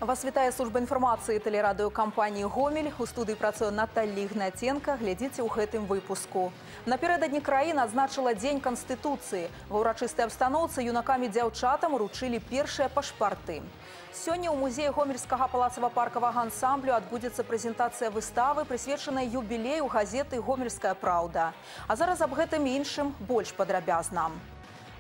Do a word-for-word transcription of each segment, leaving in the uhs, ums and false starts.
Вас вітае служба інфармацыі тэлерадыёкампаніі «Гомель». У студыі працуе Наталья Ігнатенка. Глядзіце ў гэтым выпуску. Напярэдадні краіна адзначыла Дзень Канстытуцыі. Ва ўрачыстай абстаноўцы юнакам і дзяўчатам уручылі першыя пашпарты. Сёння ў музеі гомельскага палацава-паркавага ансамблю адбудзецца прэзентацыя выставы, прысвечанай юбілею газеты «Гомельская праўда». А зараз аб гэтым і іншым больш падрабязна.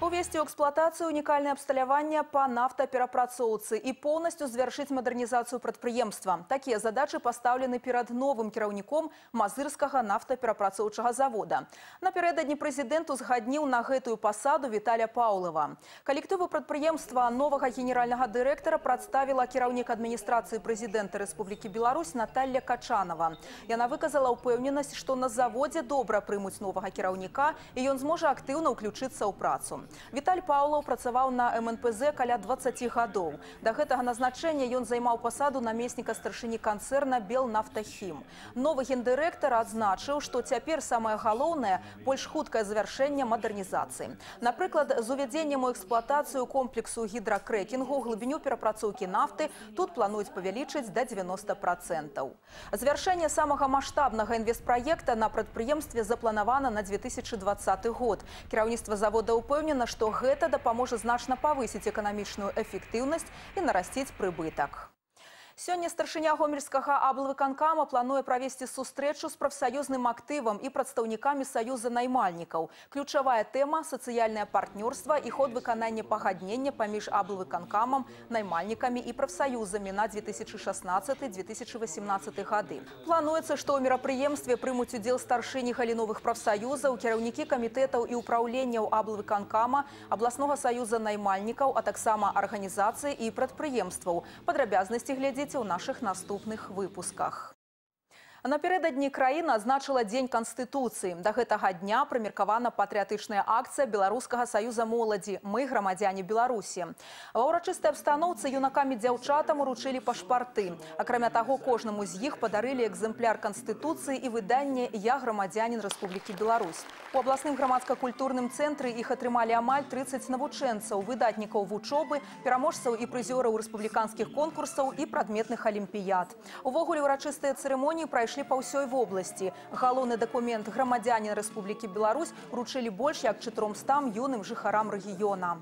Увесці ў эксплуатацыю унікальнае абсталяванне па нафтаперапрацоўцы і поўнасцю завяршыць мадэрнізацыю прадпрыемства. Такія задачы пастаўлены перад новым кіраўніком Мазырскага нафтаперапрацоўчага завода. Напярэдадні прэзідэнт узгадніў на гэтую пасаду Віталя Паўлава. Калектыву прадпрыемства новага генеральнага дырэктара прадставіла кіраўнік адміністрацыі прэзідэнта Рэспублікі Беларусь Наталья Качанова. Яна выказала ўпэўненасць, што на заводзе добра прымуць новага кіраўніка і ён зможа актыўна ўключыцца ў працу. Віталь Паўлаў працаваў на эм эн пэ зэ каля дваццаці гадоў. Да гэтага назначэння ён займаў пасаду намесніка старшыні канцэрна «Белнафтахім». Новы гендырэктар адзначыў, што цяпер самае галоўнае – больш хуткае завяршэнне мадэрнізацыі. Напрыклад, з увядзеннем у эксплуатацыю комплексу гідракрэкінгу глыбіню перапрацоўкі нафты тут плануюць павялічыць да дзевяноста працэнтаў. Завяршэнне самага маштабнага інвестпраекта на прадпрыемстве запланавана на дзве тысячы дваццаты год. Кіраўніцтва завода ўпэўнена, што гэта дапаможа значна павысіць эканамічную эфектыўнасць і нарасціць прыбытак. Сёння старшыня гомельскага аблвыканкама плануе правесці сустрэчу з прафсаюзным актывам і прадстаўнікамі саюза наймальнікаў. Ключавая тэма – сацыяльнае партнёрства і ход выканання пагаднення паміж аблвыканкамам, наймальнікамі і прафсаюзамі на дзве тысячы шаснаццаты — дзве тысячы васемнаццаты гады. Плануецца, што ў мерапрыемстве прымуць удзел старшыні галіновых прафсаюзаў, кіраўнікі камітэтаў і ўпраўленняў аблвыканкама, абласнога саюза наймальнікаў, а таксама арганізацыі і прадпрыемстваў. Падрабязнасці глядзіце у наших наступных выпусках. Напярэдадні краіна адзначыла Дзень Канстытуцыі. Да гэтага дня прымеркавана патрыятычная акцыя Беларускага саюза моладзі «Мы грамадзяне Беларусі». Ва ўрачыстай абстаноўцы юнакам і дзяўчатам уручылі пашпарты. Акрамя таго, кожнаму з іх падарылі экземпляр Канстытуцыі і выданне «Я грамадзянін Рэспублікі Беларусь». У абласным грамадска-культурным цэнтры іх атрымалі амаль трыццаць навучэнцаў, выдатнікаў вучобы, пераможцаў і прызёраў рэспубліканскіх конкурсаў і прадметных алімпіяд. Увогуле ўрачыстыя цырымоніі прайшлі па ўсёй вобласці. Галоўны дакумент «Грамадзянін Рэспублікі Беларусь» уручылі больш як чатырохсот юным жыхарам рэгіёна.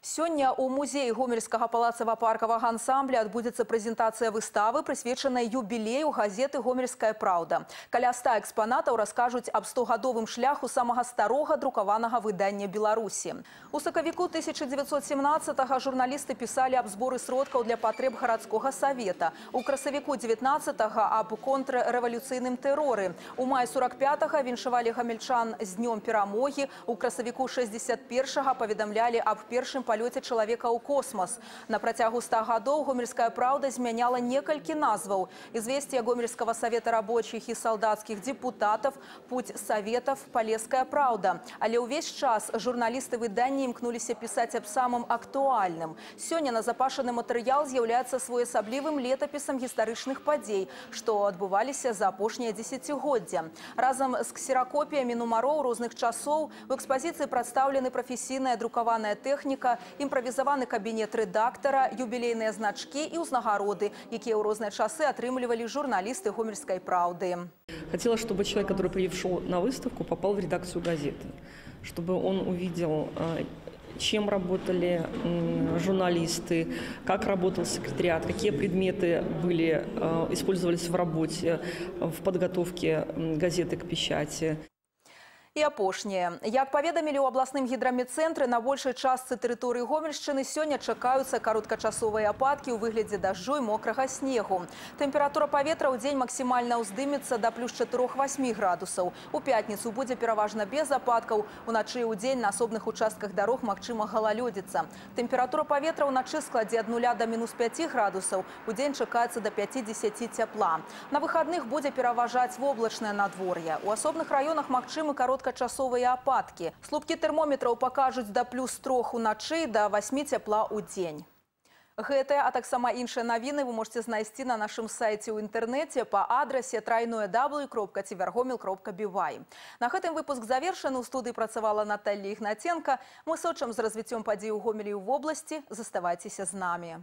Сёння ў музеі гомельскага палацава-паркавага ансамбля адбудзецца прэзентацыя выставы, прысвечанай юбілею газеты «Гомельская праўда». Каля ста экспанатаў раскажуць аб стогадовым шляху самага старога друкаванага выдання Беларусі. У сакавіку тысяча дзевяцьсот семнаццатага журналісты пісалі аб зборы сродкаў для патрэб гарадскога савета. У красавіку дзевятнаццатага аб контррэвалюцыйным тэроры. У маі сорок пятага віншавалі гамельчан з днём перамогі. У красавіку шэсцьдзесят першага паведамлялі аб першым палёце чалавека ў космас. На працягу ста гадоў «Гомельская праўда» змяняла некалькі назваў. Известия Гомельского совета рабочих і салдацкіх депутатов, путь советов, Полесская праўда. Але ўвесь час журналісты выдання імкнуліся пісаць аб самым актуальным. Сёння назапашаны матэрыял з'яўляецца своеасаблівым летапісам гістарычных падзей, што адбываліся за апошняе дзесяцігоддзя. Разам з ксеракопіямі нумароў розных часоў у экспазіцыі прадстаўлены прафесійная друкаваная тэхніка, імправізаваны кабінет рэдактара, юбілейныя значкі і ўзнагароды, якія ў розныя часы атрымлівалі журналісты «Гомельской праўды». Хотела, чтобы человек, который пришел на выставку, попал в редакцию газеты, чтобы он увидел, чем работали журналисты, как работал секретариат, какие предметы были, использовались в работе, в подготовке газеты к печати. І апошняе. Як паведамілі ў абласным гідрамедцэнтры, на большай частцы тэрыторыі Гомельшчыны сёння чакаюцца кароткачасовыя ападкі ў выглядзе дажджу і мокрага снегу. Тэмпература паветра ў дзень максімальна ўздымецца да плюс чатырох васьмі градусаў. У пятніцу будзе пераважна без ападкаў. Уначы і ў дзень на асобных участках дарог магчыма галалёдзіца. Тэмпература паветра ўначы складзе ад нуля да мінус пяці градусаў. У дзень чакаецца да пяцідзесяці цяпла. На выхадных будзе пераважаць воблачнае надвор'е. У асобных раёнах магчымы кароткачасовыя кароткачасовыя ападкі. Слупкі тэрмометраў пакажуць да плюс трох уначы, да васьмі цяпла ў дзень. Гэтыя, а таксама іншыя навіны вы можете знайсці на нашым сайце ў інтэрнэце па адрасе трайное дабл ю кропка цівергомель кропка бі вай. На гэтым выпуск завершаны. У студыі працавала Наталья Ігнаценка. Мы сочым з развіццём падзей у Гомелі і ў вобласці. Заставайцеся з намі.